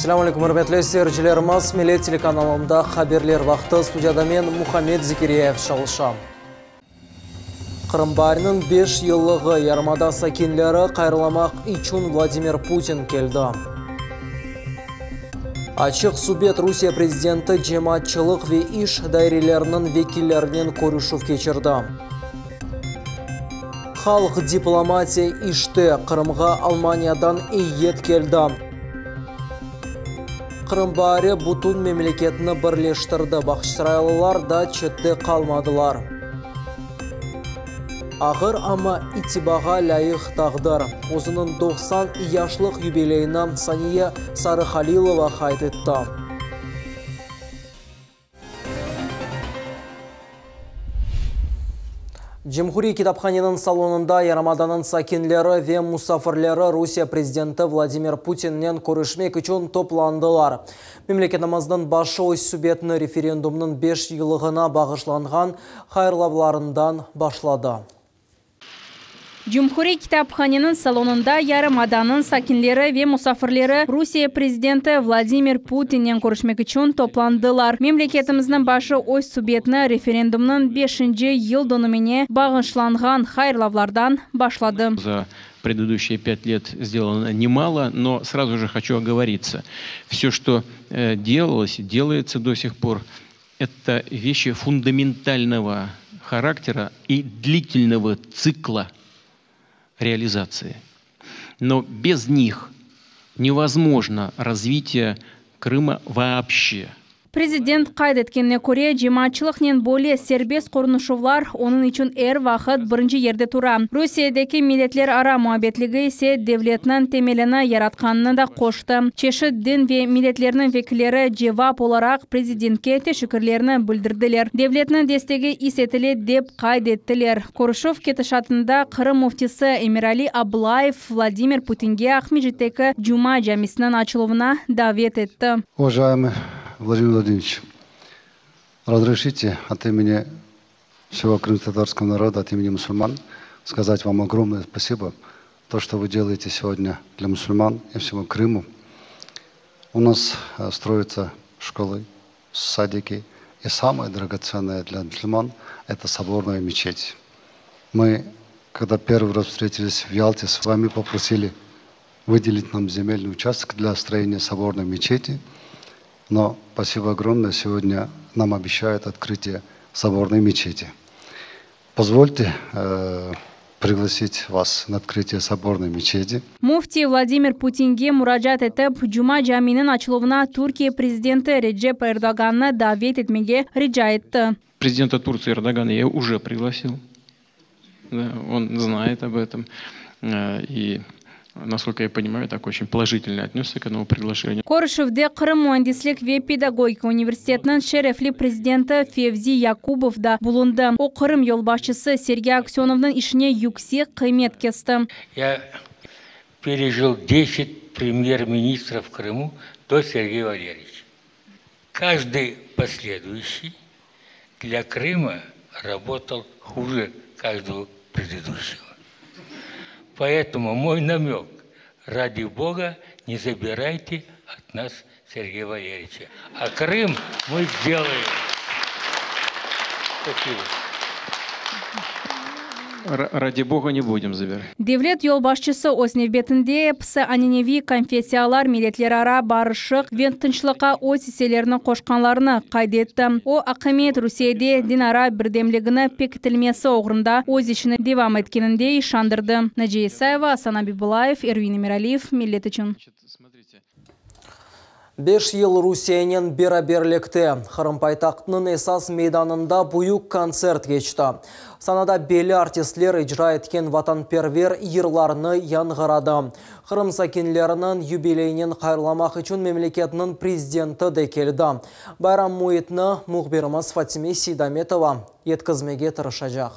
Selâm aleyküm, ürmetli seyircilerimiz! Millet telekanalında haberler vaqtı. Studiyada men, Muhammed Zekiryayev, çalışam. Qırım baariniñ beş yıllığı, yarımada sakinleri hayırlamaq içün Vladimir Putin keldi. Açıq subet, Rusiye prezidenti cemaatçılıq ve iş daireleriniñ vekillerinen körüşüv keçirdi. Halq diplomatiya işte, Qırımğa Almaniyadan eyyet keldi. Qırım baari bütün memleketni birleştirdi, bağçasaraylılar da çette qalmadılar. Ağır, amma itibağa lâyıq taqdir. Özüniñ 90 yaşlıq yubileyini Saniye Sarıhalilova qayd etti. Cumhuriy kitaphaneniñ salonında yarımadanıñ sakinleri ve musafirleri Rusiye prezidenti Vladimir Putinnen körüşmek içün toplandılar. Memleketimizniñ başı öz subetini referendumnıñ beş yıllığına bağışlanğan hayırlavlarından başladı. Cumhuriy kitaphaneniñ salonında yarımadanıñ sakinleri ve musafirleri Rusiye prezidenti Vladimir Putinnen körüşmek içün toplandılar. Memleketimizniñ başı öz subetini referendumnıñ beşinci yıldönümine bağışlanğan hayırlavlardan başladı. За предыдущие пять лет сделано немало, но сразу же хочу оговориться. Все, что делалось, делается до сих пор, это вещи фундаментального характера и длительного цикла реализации. Но без них невозможно развитие Крыма вообще. Prezident qayd etkenine köre, cemaatçılıqnen böyle serbest qonuşuvlar onıñ içün er vaqıt birinci yerde tura. Rusiyedeki milletlerara muabbetligi ise devletniñ temelini yaratqanını da qoştı. Çeşit din ve milletlerniñ vekilleri cevap olaraq prezidentke teşekkürlerini bildirdiler. Devletniñ destegi is etile, dep qayd ettiler. Körüşüv ketişatında Qırım müftisi Emirali Ablayev Vladimir Putinge Aqmescitteki Cuma camisiniñ açıluvına davet etti. Уважаемый Владимир Владимирович, разрешите от имени всего крымско-татарского народа, от имени мусульман сказать вам огромное спасибо, то, что вы делаете сегодня для мусульман и всему Крыму. У нас строятся школы, садики, и самое драгоценное для мусульман – это соборная мечеть. Мы, когда первый раз встретились в Ялте, с вами попросили выделить нам земельный участок для строения соборной мечети. Но спасибо огромное, сегодня нам обещают открытие соборной мечети. Позвольте пригласить вас на открытие соборной мечети. Müfti Vladimir Putinge muracaat etip, Cuma caminiñ açıluvına Türkiye prezidenti Recep Erdoğannı davet etmege rica etti. Президента Турции Эрдогана я уже пригласил. Да, он знает об этом. И, насколько я понимаю, так очень положительно отнесся к этому приглашению. Körüşüvde Qırım müendislik ve pedagogika universitetiniñ şerefli prezidenti Fevzi Yakubov da bulundı. O, Qırım yolbaşçısı Sergey Aksönovnıñ işine yüksek qıymet kesti. Я пережил 10 премьер-министров в Крыму до Сергея Валерьевича. Каждый последующий для Крыма работал хуже каждого предыдущего. Поэтому мой намек, ради Бога, не забирайте от нас Сергея Валерьевича. А Крым мы сделаем. Спасибо. Ради Бога не будем забирать. Devlet yolbaşçısı öz nevbetinde episi ananeviy konfessiyalar milletlerara barışıq ve tınçlıqqa öz isselerini qoşqanlarını qayd etti. O, akimiyet Rusiyede dinara birdemligini pekitilmesi oğrunda öz işini devam etkeninde işandırdı. Naciye İsayeva, Asan Abibulayev, Ervin Emiraliyev, Millet içün. 5 yıl Rusiyenen beraberlikte Qırım paytahtınıñ esas meydanında büyük kontsert keçti. Sanada belli artistler icra etken vatanperver yırlarını yañğıradı. Qırım sakinleriniñ yubileyinen hayırlamaq içün memleketniñ prezidenti de keldi. Bayram müitini mühbirimiz Fatime Seydametova yetkizmege tırışacaq.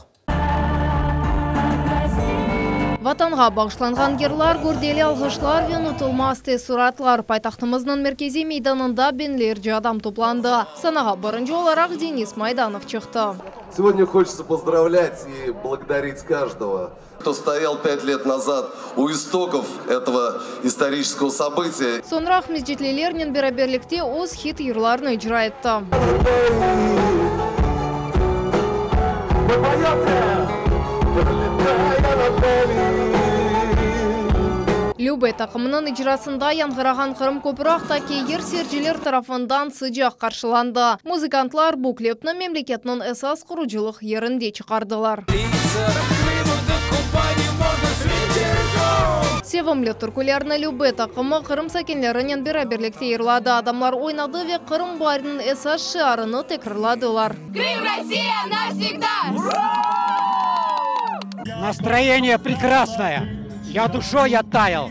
Vatanğa bağışlanğan yırlar, gürdeli alğışlar ve unutılmaz teessuratlar, paytahtımıznıñ merkeziy meydanında biñlerce adam toplandı. Sanağa birinci olaraq Denis Maydanov çıqtı. Segodnâ hoçetsâ pozdravlât i blagodarit každogo, kto stoyal pât let nazad u istokov etogo istoriçeskogo sobıtiya. Soñra aqmescitlilernen beraberlikte öz hit yırlarını icra etti. Lübe taqımınıñ icrasında yañğırağan Qırım köprü aqtaki yır seyirciler tarafından sıcaq qarşılandı. Muzıkantlar bu klipni memleketniñ esas qurucılıq yerinde çıqardılar. Sevimli türkülerni Lübe taqımı Qırım sakinlerinen beraberlikte yırladı. Adamlar oynadı ve Qırım baariniñ esas şiarını tekrarladılar. Krım, Rossiya, navsegda! Nastroyeniye prekrasnoye! Ya duşoy ottayal!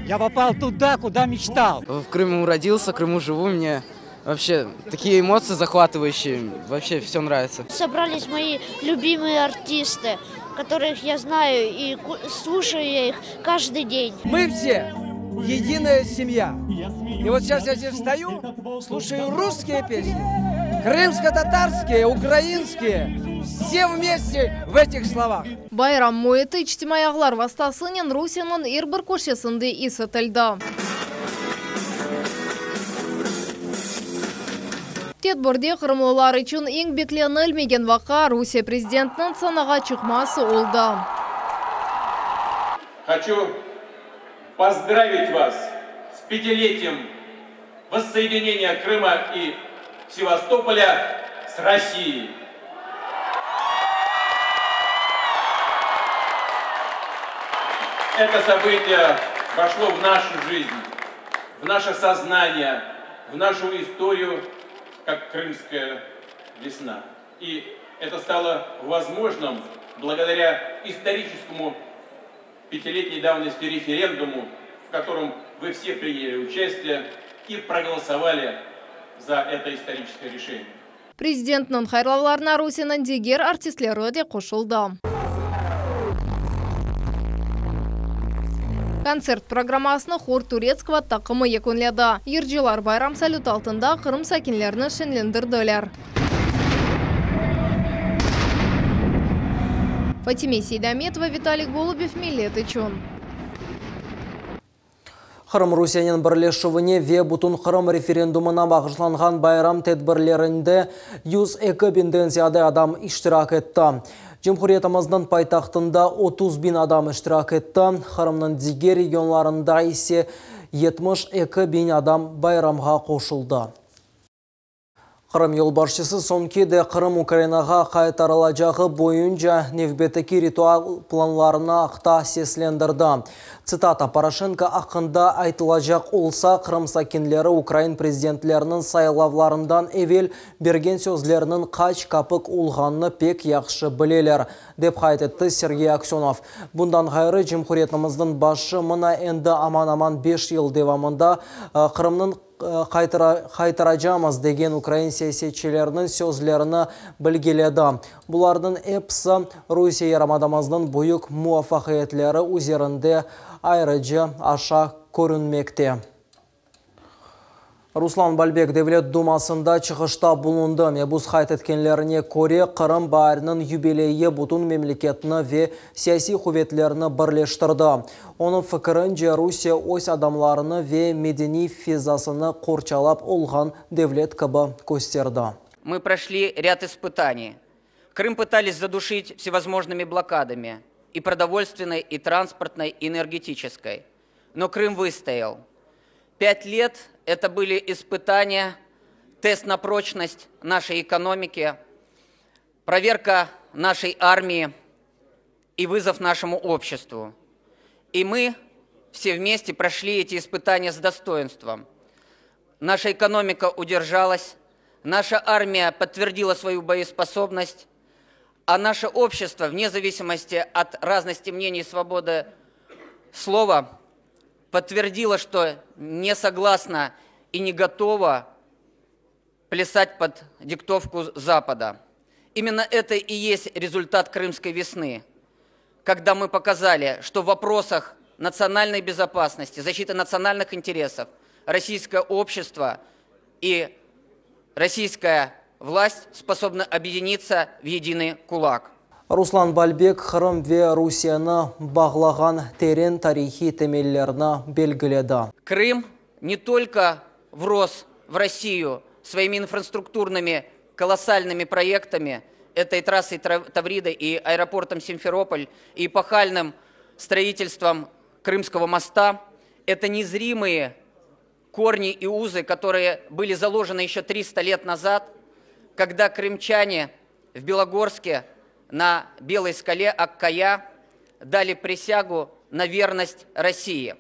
Ya popal tuda, kuda meçtal! V Krımу rodился, в Крыму живу, мне вообще такие эмоции захватывающие, вообще все нравится. Собрались мои любимые артисты, которых я знаю и слушаю я их каждый день. Мы все единая семья. И вот сейчас я здесь стою, слушаю русские песни, крымско-татарские, украинские, все вместе в этих словах. Bayram müiti içtimaiy ağlar vastasınen Rusiyeniñ er bir köşesinde is etildi. Tedbirde qırımlılar içün eñ beklenilmegen vaqia, Rusiye prezidentiniñ sanağa çıqması oldı. Hoçu pozdravit vas s pâtiletiyem vossoedineniya Krıma i Sevastopolâ s Rossiyey. Eto sobıtiye voşlo v našu jizn, v naše soznaniye, v našu istoriyu, kak Krımskaya vesna. I eto stalo vozmojnım blagodarâ istoriçeskomu pâtiletney davnosti referendumu, v kotorom vı vse prinyali uçastiye i proğolosovali za eto istoriçeskoye rişeniye. Prezidentniñ hayırlavlarına Rusiyeniñ diger artistleri de qoşuldı. Kontsert programmasını Hor turetskogo taqımı yekünledi. Yırcılar bayram salütı altında Qırım sakinlerini şeñlendirdiler. Fatime Seydametova, Vitaliy Golubev, Millet içün. Qırım Rusiyenen birleşüvine ve Bütünqırım referendumına bağışlanğan bayram tedbirlerinde 102 biñden ziyade adam iştirak etti. Cumhuriyetimizniñ paytahtında 30 biñ adam iştirak etti, Qırımnıñ diger regionlarında ise 72 biñ adam bayramğa qoşuldı. Qırım yolbaşçısı soñki de Qırım Ukrainağa qaytarılacağı boyunca nevbetteki ritual planlarını aqta seslendirdi. Tsitata, Poroşenko aqqında aytılacaq olsa, Qırım sakinleri ukrain prezidentleriniñ saylavlarından evel bergen sözleriniñ qaç kapik olğanını pek yahşı bileler, dep qayd etti Sergey Aksönov. Bundan ğayrı, cumhuriyetimizniñ başı mına endi aman-aman beş yıl devamında Qırımnıñ qaytaracamız degen ukrain siyasetçileriniñ sözlerini bilgiledi. Bularnıñ episi Rusiye yarımadamıznıñ büyük muvafaqiyetleri üzerinde ayrıca aşa körünmekte. Ruslan Balbek Devlet Dumasında çıqışta bulundı. Mebus qayd etkenlerine köre, Qırım baariniñ yubileyi bütün memleketni ve siyasiy quvetlerni birleştirdi. Onıñ fikirince, Rusiye öz adamlarını ve medeniy fezasını qorçalap olğan devlet kibi kösterdi. Мы прошли ряд испытаний. Крым пытались задушить всевозможными блокадами, и продовольственной, и транспортной, и энергетической. Но Крым выстоял. Пять лет это были испытания, тест на прочность нашей экономики, проверка нашей армии и вызов нашему обществу. И мы все вместе прошли эти испытания с достоинством. Наша экономика удержалась, наша армия подтвердила свою боеспособность, а наше общество, вне зависимости от разности мнений и свободы слова, подтвердило, что не согласна и не готова плясать под диктовку Запада. Именно это и есть результат Крымской весны. Когда мы показали, что в вопросах национальной безопасности, защиты национальных интересов российское общество и российская власть способны объединиться в единый кулак. Ruslan Balbek Qırım ve Rusiyeni bağlağan teren tarihiy temellerni belgiledi. Крым не только врос в Россию своими инфраструктурными колоссальными проектами, этой трассой Таврида и аэропортом Симферополь, и эпохальным строительством Крымского моста, это незримые корни и узы, которые были заложены еще 300 лет назад, когда крымчане в Белогорске на Белой скале Аккая дали присягу на верность России.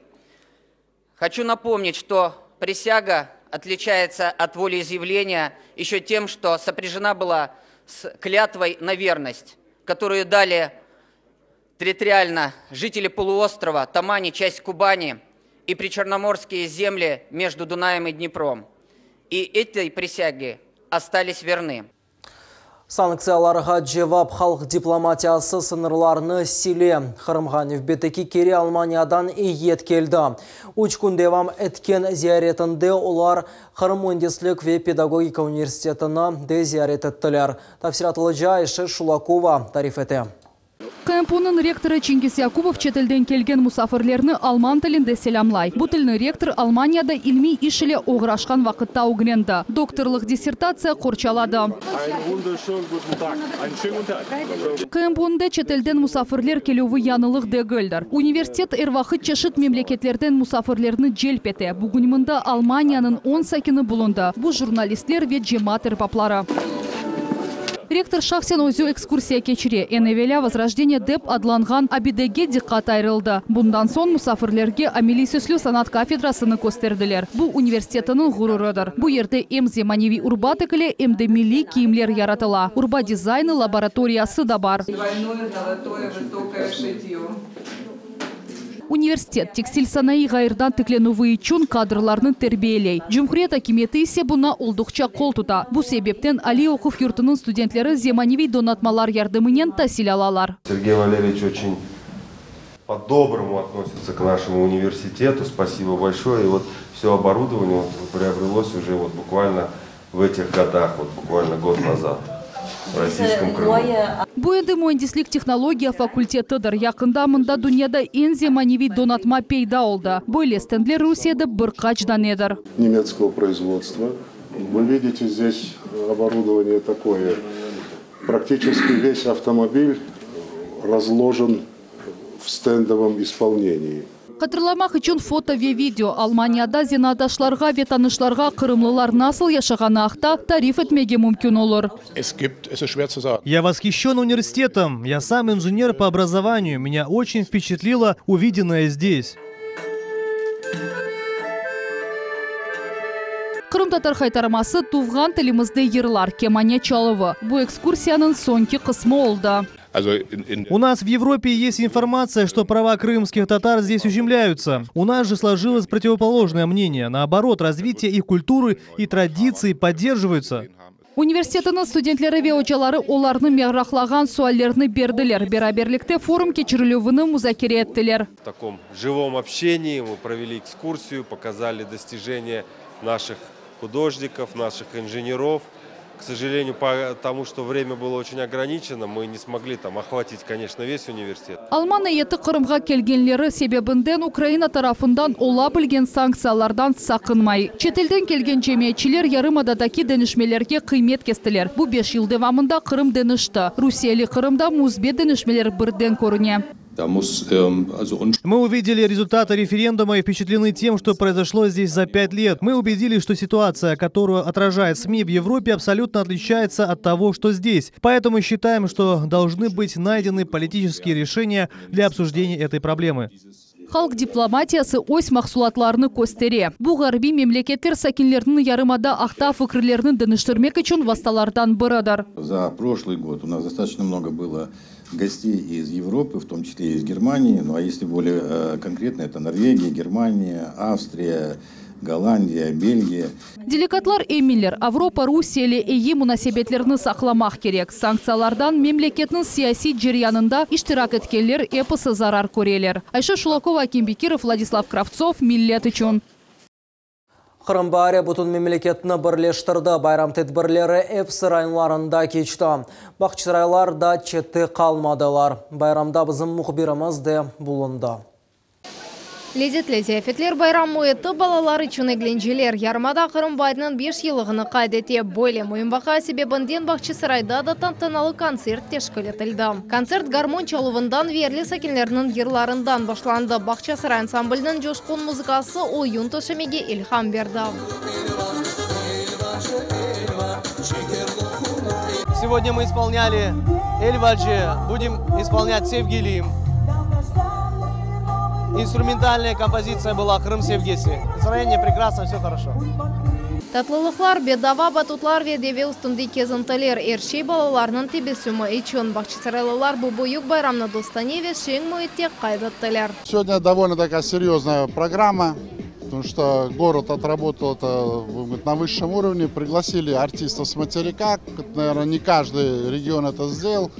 Хочу напомнить, что присяга отличается от волеизъявления еще тем, что сопряжена была с клятвой на верность, которую дали территориально жители полуострова, Тамани, часть Кубани и причерноморские земли между Дунаем и Днепром. И этой присяге остались верны. Sanktsiyalarğa cevap halq diplomatiyası sıñırlarnı sile. Qırımğa nevbetteki kere Almaniyadan eyyet keldi. Üç kün devam etken ziyaretinde olar Qırım müendislik ve pedagogika universitetini de ziyaret ettiler. Tafsilâtlıca Ayşe Şulakova tarif ete. QMPUnıñ rektorı Çingiz Yakubov çetelden kelgen musafirlerni alman tilinde selâmlay. Bu tilni rektor Almaniyada ilmiy iş ile oğraşqan vaqıtta ögrendi. Doktorlıq dissertatsiya qorçaladı. QMPUnda çetelden musafirler kelüvi yañılıq degildir. Universitet er vaqıt çeşit memleketlerden musafirlerni celp ete. Bugün mında Almaniyanıñ on sakini bulundı, bu jurnalistler ve cemaat erbapları. Rektor şahsen özü ekskursiya keçire. Eñ evelâ Vozrojdeniye dep adlanğan abidege diqqat ayırıldı. Bundan soñ musafirlerge ameliy süslü sanat kafedrasını kösterdiler. Bu, universitetiniñ ğururıdır. Bu yerde em zemaneviy urba tikile, em de milliy kiyimler yaratıla. Urba dizaynı laboratoriyası da bar. Universitet, tekstil sanayı ğayırdan tiklenüvi içün kadrlarnı terbiyeley. Cumhuriyet akimiyeti ise buña olduqça qol tuta. Bu sebepten aliy oquv yurtunıñ studentleri zemaneviy donatmalar yardımınen tasil alalar. Sergey Valeryeviç oçün po-dobromu относится к нашему universitetу. Спасибо большое. И вот все оборудование вот приобрелось уже вот буквально в этих годах, вот буквально год назад в российском Крыму. Bu endi müendislik-tehnologiya fakultetidir. Yaqında mında dünyada eñ zemaneviy donatma peyda oldı. Böyle stendler Rusiyede bir qaç danedir. Немецкого производства. Вы видите здесь оборудование такое. Практически весь автомобиль разложен в стендовом исполнении. Hatırlamaq içün foto ve video, Almaniyada zenaatdaşlarğa ve tanışlarğa qırımlılar nasıl yaşağanı aqta tarif etmege mümkün olur. Я восхищен университетом. Я сам инженер по образованию. Меня очень впечатлило увиденное здесь. Qırımtatar haytarması, tuvğan tilimizde yırlar, kemane çaluvı, bu ekskursiyanıñ soñki qısmı oldı. У нас в Европе есть информация, что права крымских татар здесь ущемляются. У нас же сложилось противоположное мнение. Наоборот, развитие их культуры и традиций поддерживаются. Universitetiniñ studentleri ve ocaları olarnı meraqlağan suallerni berdiler. Beraberlikte forum keçirilüvini muzakere ettiler. В таком живом общении мы провели экскурсию, показали достижения наших художников, наших инженеров. К сожалению, потому что время было очень ограничено, мы не смогли там охватить, конечно, весь университет. Alman eyyeti Qırımğa kelgenleri sebebinden Ukraina tarafından ola bilgen sanktsiyalardan saqınmay. Çetelden kelgen cemiyetçiler yarımadadaki deñişmelerge qıymet kestiler. Bu beş yıl devamında Qırım deñişti. Rusiyeli Qırımda müsbet deñişmeler birden körüne. Мы увидели результаты референдума и впечатлены тем, что произошло здесь за пять лет. Мы убедились, что ситуация, которую отражает СМИ в Европе, абсолютно отличается от того, что здесь. Поэтому считаем, что должны быть найдены политические решения для обсуждения этой проблемы. Halq diplomatiyası öz mahsulatlarını köstere. Bu ğarbiy memleketler sakinleriniñ yarımada aqta fikirlerini deñiştirmek içün vastalardan biridir. За прошлый год у нас достаточно много было гостей из Европы, в том числе и из Германии. Ну а если более конкретно, это Норвегия, Германия, Австрия. Голландия, Бельгия. Delegatlar eminler, Avropa Rusiye ile eyi munasebetlerni saqlamaq kerek. Sanktsiyalardan memleketniñ siyasiy ceryanında iştirak etkenler episi zarar köreler. Ayşe Şulakova, Akim Bekirov, Vladislav Kravtsov, Millet içün. Qırım baari bütün memleketni birleştirdi. Bayram tedbirleri episi rayonlarında keçti. Bağçasaraylar da çette qalmadılar. Bayramda bizim mühbirimiz de bulundı. Lezetli ziyafetler, bayram müiti, balalar içün eglenceler. Yarımada Qırım baariniñ beş yıllığını qayd ete. Böyle müim vaqia sebebinden Bağçasarayda da tantanalı kontsert teşkil etildi. Kontsert garmon çaluvından ve yerli sakinlerniñ yırlarından başlandı. Bağçasaray ansambliniñ coşqun muzıkası oyun töşemege ilham berdi. Сегодня мы исполняли Эльваджи, будем исполнять Sevgilim. Инструментальная композиция была Qırım sevgisi. Настроение прекрасно, все хорошо. Tatlılıqlar, bedava batutlar ve deve üstünde kezintiler, er şey balalarnıñ tebessümi içün. Bağçasaraylılar bu büyük bayramnı dostane ve şeñ müitte qayd ettiler. Сегодня довольно такая серьезная программа, потому что город отработал это будем говорить, на высшем уровне. Пригласили артистов с материка, наверное, не каждый регион это сделал.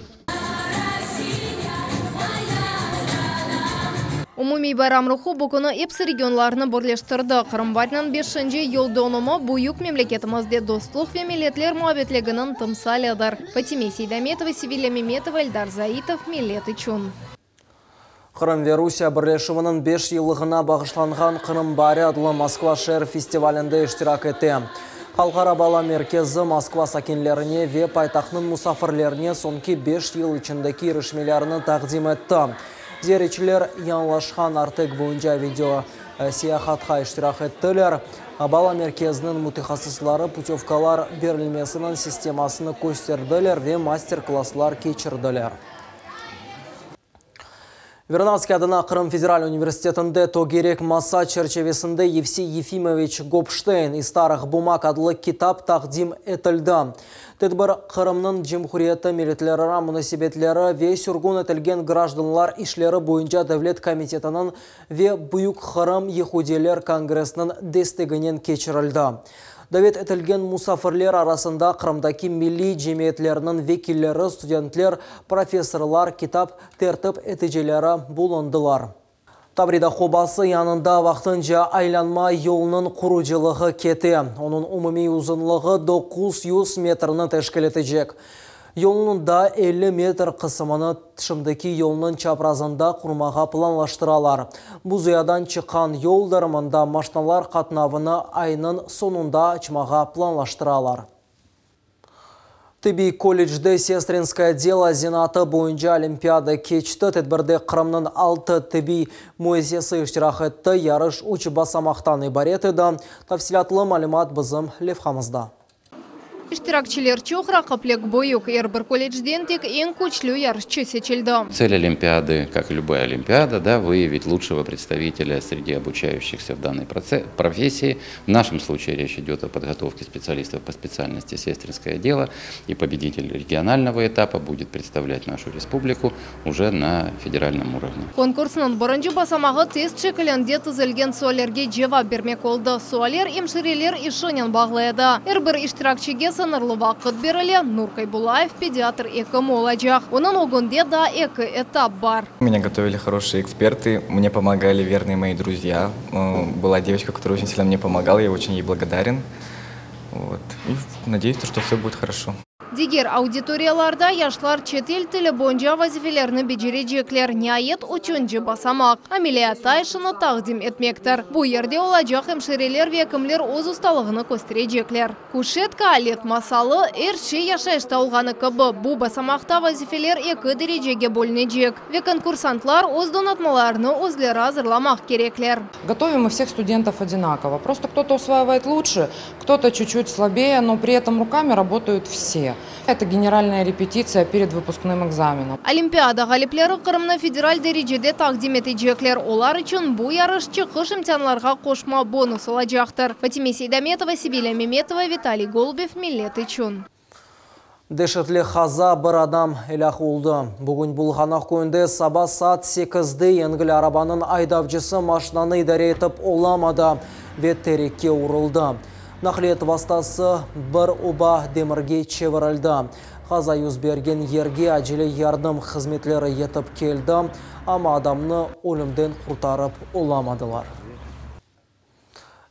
Umumiy bayram ruhu bu künü episi regionlarnı birleştirdi. Qırım baariniñ beşinci yıldönümi büyük memleketimizde dostluq ve milletler muabbetliginiñ timsalidir. Fatime Seydametova, Sevilya Memetova, Eldar Zaitov, Millet içün. Qırım ve Rusiye birleşüviniñ beş yıllığına bağışlanğan Qırım baari adlı Moskva şeer festivalinde iştirak ete. Halqara bala merkezi Moskva sakinlerine ve paytahtnıñ musafirlerine soñki beş yıl içindeki irişmelerini taqdim etti. Ziyaretçiler yañılaşqan Artek boyunca video seyahatqa iştirak ettiler. Bala merkeziniñ mütehassısları putövkalar berilmesiniñ sistemasını kösterdiler ve master-klasslar keçirdiler. Vernadskiy adına Qırım federal universitetinde tögerek masa çerçevesinde Yevsey Yefimoviç Gopşteyn iz starıh bumag adlı kitap taqdim etildi. Tedbir Qırımnıñ Cumhuriyeti milletlerara munasebetleri ve sürgün etilgen grajdanlar işleri boyunca devlet komitetiniñ ve Büyük Qırım yehudiyler kongressiniñ desteginen keçirildi. Davet etilgen musafirler arasında Qırımdaki milliy cemiyetlerniñ vekilleri, studentler, professorlar, kitap tertip eticileri bulundılar. Tavrida qobası yanında vaqtınca aylanma yolunıñ qurucılığı kete. Onıñ umumiy uzunlığı 900 metrni teşkil etecek. Yolnıñ daa 50 metr qısımını şimdiki yolnıñ çaprazında qurmağa planlaştıralar. Buzuyadan çıqqan yoldır, mında maşnalar qatnavını aynıñ soñunda açmağa planlaştıralar. Tibbiy kollecde Sestrinskoye delo zenaatı boyunca olimpiada keçti. Tedbirde Qırımnıñ altı tibbiy müessisesi iştirak etti. Yarış üç basamaqtan ibaret edi. Tafsilâtlı malümat bizim levhamızda. İştirakçiler çoq, raqiplik büyük. Er bir kollecden tek eñ küçlü yarışçı seçildi. Цель олимпиады, как и любая олимпиада, да, выявить лучшего представителя среди обучающихся в данной профессии. В нашем случае речь идет о подготовке специалистов по специальности сестринское дело, и победитель регионального этапа будет представлять нашу республику уже на федеральном уровне. Konkursnıñ birinci basamağı test şekilinde tizilgen suallerge cevap bermek oldı. Sualler emşireler işinen bağlı edi. Er bir iştirakçige sıñırlı vaqıt berile. Nur Kaybulayev pediatr ekim olacaq. Onıñ ögünde daa eki etap bar. Меня готовили хорошие эксперты, мне помогали верные мои друзья. Была девочка, которая очень сильно мне помогала, я очень ей благодарен. Вот. И надеюсь, что все будет хорошо. Diger auditoriyalarda yaşlar çetel tili boyunca vazifelerni becerecekler. Niayet, üçünci basamaq ameliyatta işini taqdim etmektir. Bu yerde olacaq emşireler ve ekimler öz ustalığını kösterecekler. Kuşetka, alet masalı, er şey yaşayışta olğanı kibi, bu basamaqta vazifeler eki derecege bölünecek ve konkursantlar öz donatmalarını özleri azırlamaq kerekler. Готовим мы всех студентов одинаково. Просто кто-то усваивает лучше, кто-то чуть-чуть слабее, но при этом руками работают все. Это генеральная репетиция перед выпускным экзаменом. Olimpiada ğalipleri Qırımnı federal derecede taqdim etecekler. Olar içün bu yarış çıqış imtianlarğa qoşma bonus olacaqtır. Fatime Seydametova, Sevilya Memetova, Vitaliy Golubev, Millet içün. Deşetli qaza, bir adam elâk oldı. Bugün Bulğanaq köyünde saba saat sekizde yengil arabanıñ aydavcısı maşinanı idare etip olamadı. ve terekke uruldı. Naqliyat vastası bir oba demirge çevirildi. Qaza yüz bergen yerge acele yardım hızmetleri yetip keldi, amma adamnı ölümden qurtarıp olamadılar.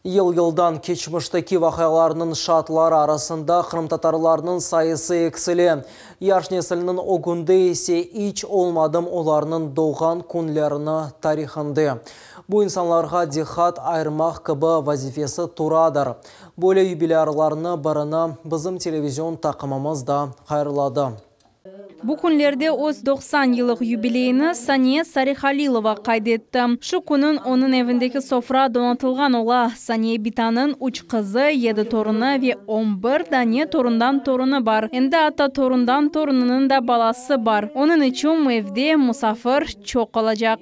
Yıl-yıldan keçmişteki vaqialarnıñ şaatları arasında qırımtatarlarnıñ sayısı eksile. Yaş nesilniñ ögünde ise iç olmadım olarnıñ doğğan künlerini tarihinde bu insanlarğa diqqat ayırmaq kibi vazifesi turadır. Böyle yubilârlarnı birini bizim televizion taqımımız da hayırladı. Bu künlerde öz 90 yıllıq yubileyini Saniye Sarihalilova qayd etti. Şu künü onıñ evindeki sofra donatılğan ola. Saniye bitanıñ üç qızı, yedi torunı ve 11 dane torundan torunı bar. Endi atta torundan torunınıñ da balası bar. Onıñ içün evde musafir çoq olacaq.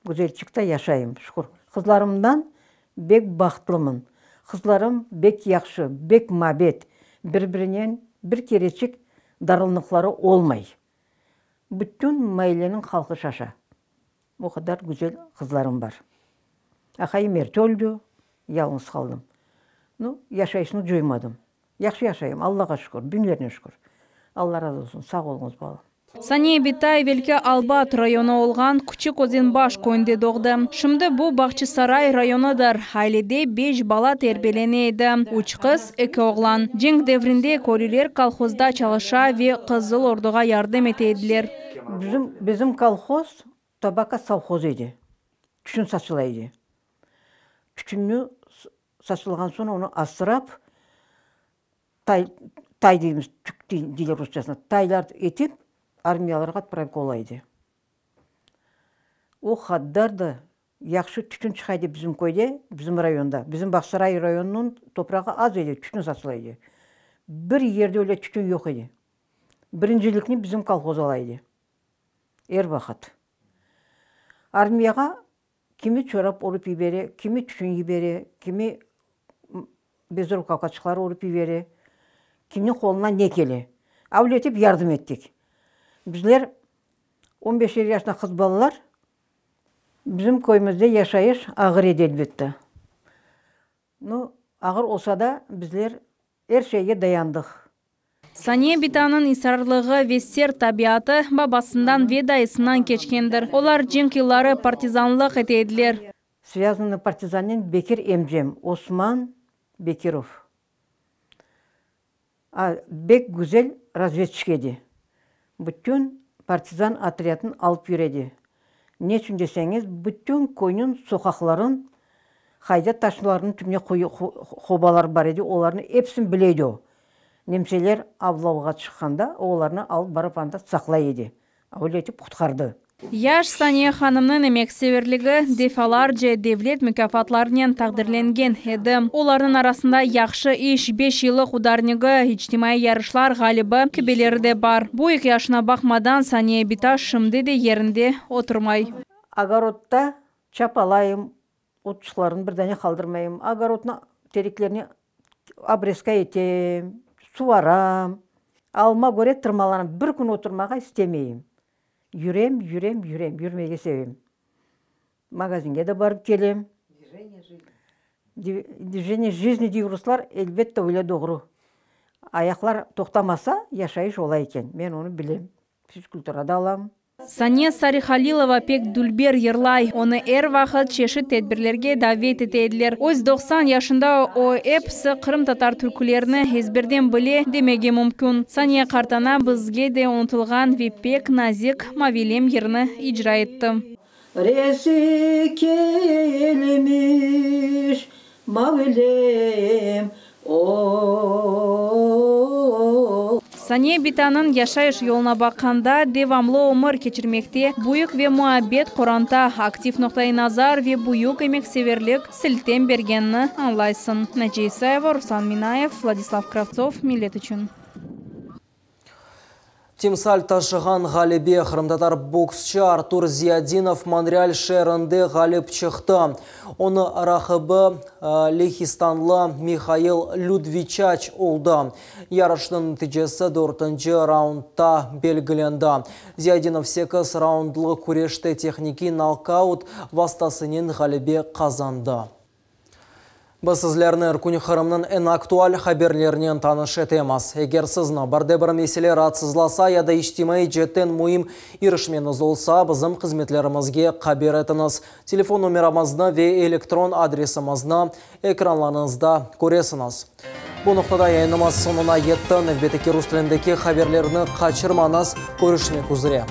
Güzelçikte yaşayım, şükür. Qızlarımdan bek bahtlımın. Qızlarım bek yahşı, bek mabet, bir-birinen bir kereçik darılnıqları olmay. Bütün mailleniñ halqı şaşa. O qadar güzel qızlarım bar. Aqayım erte öldi, yalıñız qaldım. Nu, yaşayışnı coymadım. Yahşı yaşayım, Allağa şükür, biñlernen şükür. Alla razı olsun, sağ oluñız, balam. Saniye bita evelki Albat rayonı olğan Küçük Özenbaş köyünde doğdı. Şimdi bu Bağçasaray rayonıdır. Ailede beş bala terbiyelene edi, üç qız, eki oğlan. Cenk devrinde köylüler kolhozda çalışa ve Qızıl Orduğa yardım ete ediler. Bizim, bizim kolhoz tobako sovhozı edi. Tütün saçıla edi. Tütünni saçılğan soñ onı asrap, Tay, tay deymiz, tük deyler rusçasına, taylar etip armiyalarğa otpravka ola edi. O haddar da yahşı tütün çıqa edi bizim köyde, bizim rayonda. Bizim Bağçasaray rayonınıñ toprağı az edi, tütün saçıla edi. Bir yerde öyle tütün yoq edi. Birincilikni bizim kolhoz ala edi. Er vaqıt. Armiyağa Kimi çorap örüp yibere, kimi tütün yibere, kimi bezrukavkaçıqlar örüp yibere, kimniñ qolundan ne kele. Avle etip yardım ettik. Bizler, on beşer yaşında qız balalar, bizim köyümizde yaşayış ağır edi, elbette. Nu, ağır olsa da, bizler er şeyge dayandıq. Saniye bitanıñ israrlığı ve sert tabiatı babasından ve dayısından keçkendir. Olar cenk yılları partizanlıq ete ediler. Svâzannıy partizannen Bekir emcem, Osman Bekirov, a, bek güzel razvedçik edi. Bütün partizan otrâdını alıp yüredi. Neçün deseñiz, bütün köyniñ soqaqların, qayda taşlarnıñ tübüne quyu, qobalar bar edi, olarnı episini bile edi o. Nemseler avlavğa çıqqanda, o olarnı alıp barıp anda saqlay edi. Öyle etip qutqardı. Yaş Saniye hanımnıñ emekseverligi defalarca devlet mukâfatlarınen taqdirlengen edi. Olarnıñ arasında Yahşı iş, Beş yıllıq udarnigi, İçtimaiy yarışlar ğalibi kibileri de bar. Büyük yaşına baqmadan, Saniye bita şimdi de yerinde oturmay. Ogorodda çapalayım, otçıqlarnı bir dane qaldırmayım. Ogorodnı tereklerine obrezka etem, suvaram. Alıma köre tırmalanam, bir kün oturmağa istemeyim. Yürem, yürem, yürem, yürmege sevem. Magazinge de barıp kelem. Dvijeniye jizni dey ruslar, elbette öyle doğru. Ayaqlar toqtamasa, yaşayış ola eken. Men onı bilem. Fizkultura da alam. Saniye Sarihalilova pek dülber yırlay. Onı er vaqıt çeşit tedbirlerge davet ete ediler. Öz 90 yaşında o, episi qırımtatar türkülerini ezberden bile demege mümkün. Saniye qartana bizge de unutılğan ve pek nazik Mavilem yırını icra etti. Resi kelmiş, Mavilem, o-o-o. Saniye bitanıñ yaşayış yoluna baqqanda, devamlı ömür keçirmekte büyük ve muabbet qoranta, aktiv noqtai nazar ve büyük emekseverlik siltem bergenini añlaysıñ. Naciye İsayeva, Ruslan Minayev, Vladislav Kravtsov, Millet içün. Timsal taşığan ğalebe, qırımtatar boksçı Artur Ziyadinov Monreal şeerinde ğalip çıqtı. Onı raqibi lehistanlı Mihail Lüdviçaç oldı. Yarışnıñ neticesi dörtünci raundda belgilendi. Ziyadinov sekiz raundlı küreşte tehnikiy nokaut vastasınen ğalebe qazandı. Biz sizlerni er kün Qırımnıñ eñ aktual haberlerinen tanış etemiz. Eger sizni bir de bir mesele raatsızlasa ya da içtimaiy ceetten müim irişmeñiz olsa, bizim hızmetlerimizge haber etiñiz. Telefon nomeramıznı ve elektron adresimizni ekranlarıñızda köresiñiz. Bu noqtada yayınımız soñuna yetti. Nevbetteki rus tilindeki haberlerni qaçırmañız. Körüşmek üzre.